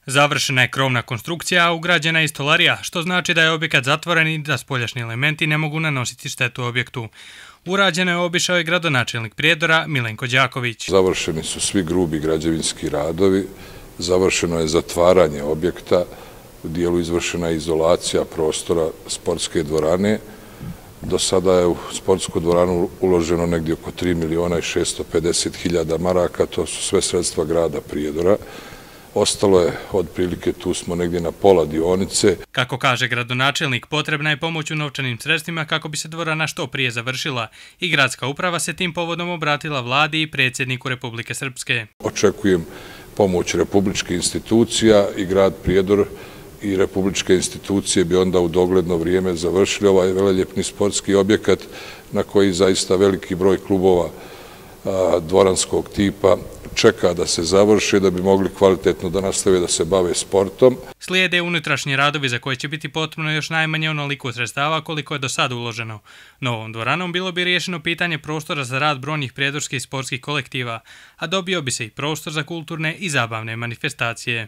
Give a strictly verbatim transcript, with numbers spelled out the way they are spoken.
Završena je krovna konstrukcija, a ugrađena je i stolarija, što znači da je objekat zatvoren i da spoljašnji elementi ne mogu nanositi štetu objektu. Urađeno je obišao i gradonačelnik Prijedora Milenko Đaković. Završeni su svi grubi građevinski radovi, završeno je zatvaranje objekta, u dijelu izvršena je izolacija prostora sportske dvorane. Do sada je u sportsku dvoranu uloženo negdje oko tri miliona i šesto pedeset hiljada maraka, to su sve sredstva grada Prijedora. Ostalo je, otprilike tu smo negdje na pola dionice. Kako kaže gradonačelnik, potrebna je pomoć u novčanim sredstvima kako bi se dvorana što prije završila i gradska uprava se tim povodom obratila vladi i predsjedniku Republike Srpske. Očekujem pomoć republičkih institucija i grad Prijedor i republičke institucije bi onda u dogledno vrijeme završili ovaj veleljepni sportski objekat na koji zaista veliki broj klubova dvoranskog tipa čeka da se završi, da bi mogli kvalitetno da nastave da se bave sportom. Slijede unutrašnji radovi za koje će biti potrebno još najmanje onoliko sredstava koliko je do sada uloženo. Novom dvoranom bilo bi riješeno pitanje prostora za rad brojnih prijedorskih sportskih kolektiva, a dobio bi se i prostor za kulturne i zabavne manifestacije.